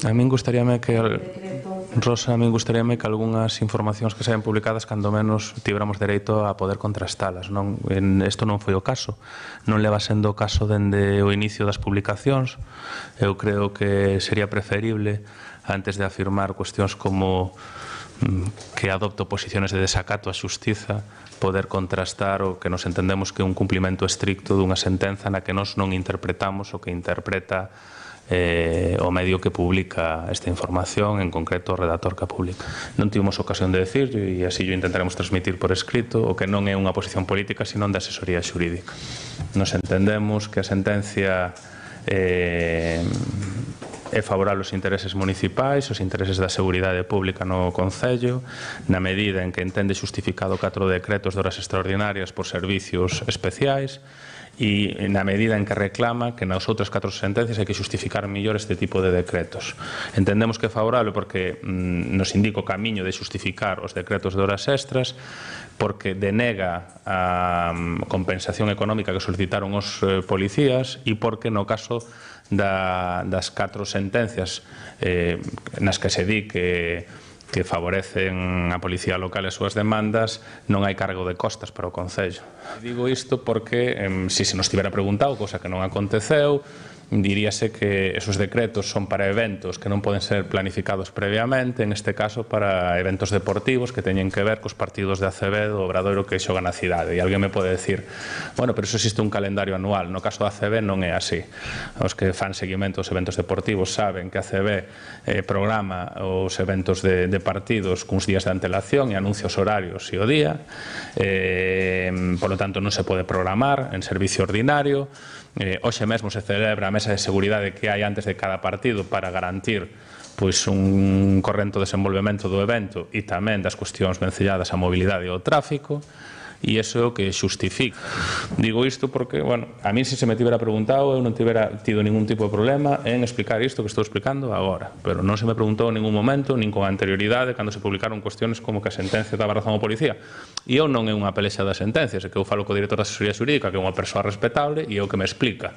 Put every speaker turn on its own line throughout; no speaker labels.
A min gustaríame que Rosa, a min gustaríame que algunhas informacións que saen publicadas cando menos tibramos dereito a poder contrastalas. Isto non foi o caso, non leva sendo o caso dende o inicio das publicacións. Eu creo que sería preferible, antes de afirmar cuestións como que adopto posiciones de desacato á xustiza, poder contrastar o que nos entendemos que é un cumplimento estricto dunha sentenza na que nós non interpretamos o que interpreta o medio que publica esta información, en concreto o redactor que a publica. Non tivemos ocasión de decir, e así o intentaremos transmitir por escrito, o que non é unha posición política, sino de asesoría xurídica. Nos entendemos que a sentencia é favorable aos intereses municipais, aos intereses da seguridade pública no Concello, na medida en que entende xustificado 4 decretos de horas extraordinarias por servicios especiais, e na medida en que reclama que nas outras 4 sentencias hai que xustificar mellor este tipo de decretos. Entendemos que é favorable porque nos indica o camiño de xustificar os decretos de horas extras, porque denega a compensación económica que solicitaron os policías e porque no caso das 4 sentencias nas que se di que favorecen a Policía Local e as súas demandas, non hai cargo de costas para o Concello. Digo isto porque, se nos tivera preguntado, cosa que non aconteceu, diríase que esos decretos son para eventos que non poden ser planificados previamente, en este caso para eventos deportivos que teñen que ver cos partidos de ACB do Obradoiro que xogan na cidade. E alguén me pode decir, bueno, pero iso existe un calendario anual. No caso da ACB non é así. Os que fan seguimento aos eventos deportivos saben que a ACB programa os eventos de partidos cuns días de antelación e anuncia os horarios e o día. Por lo tanto, non se pode programar en servicio ordinario. Hoxe mesmo se celebra a mesa de seguridade que hai antes de cada partido para garantir un corrento desenvolvemento do evento e tamén das cuestións vencelladas á mobilidade e ao tráfico, e iso é o que xustifica. Digo isto porque, a mí se me tivera preguntado, eu non tivera tido ningún tipo de problema en explicar isto que estou explicando agora, pero non se me preguntou en ningún momento, nin con anterioridade, cando se publicaron cuestiones como que a sentencia daba razón ao policía. E eu non é unha pelexa das sentencias, é que eu falo co director da asesoría xurídica, que é unha persoa respetable, e é o que me explica.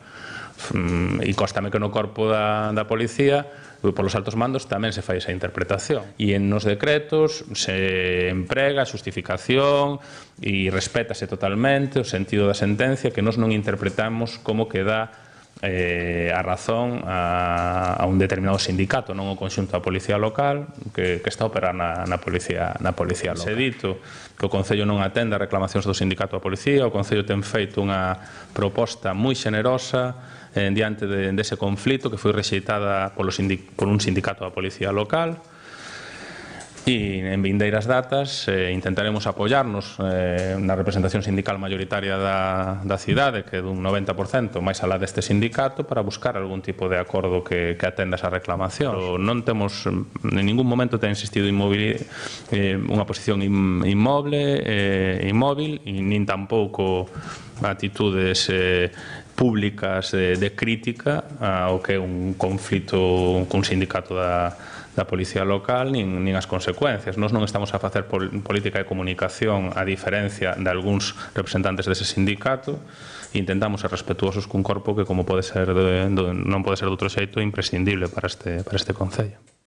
E cóstame que no corpo da policía, polos altos mandos, tamén se fai esa interpretación. E nos decretos se emprega a xustificación e respétase totalmente o sentido da sentencia, que nós non interpretamos como que dá a razón a un determinado sindicato, non o conxunto da Policía Local que está a operar na Policía Local. Se dito que o Concello non atende a reclamacións do sindicato da Policía, o Concello ten feito unha proposta moi xenerosa diante dese conflito que foi rexeitada por un sindicato da Policía Local, e en vindeiras datas intentaremos apoiarnos na representación sindical mayoritaria da cidade, que é dun 90% máis alá deste sindicato, para buscar algún tipo de acordo que atenda esa reclamación. Non temos, en ningún momento ten existido unha posición inmóvil, e nin tampouco actitudes públicas de crítica ao que é un conflito cun sindicato da Policía Local, nin as consecuencias. Nós non estamos a facer política de comunicación a diferencia de algúns representantes dese sindicato, e intentamos ser respetuosos cun corpo que, como non pode ser de outro xeito, é imprescindible para este Concello.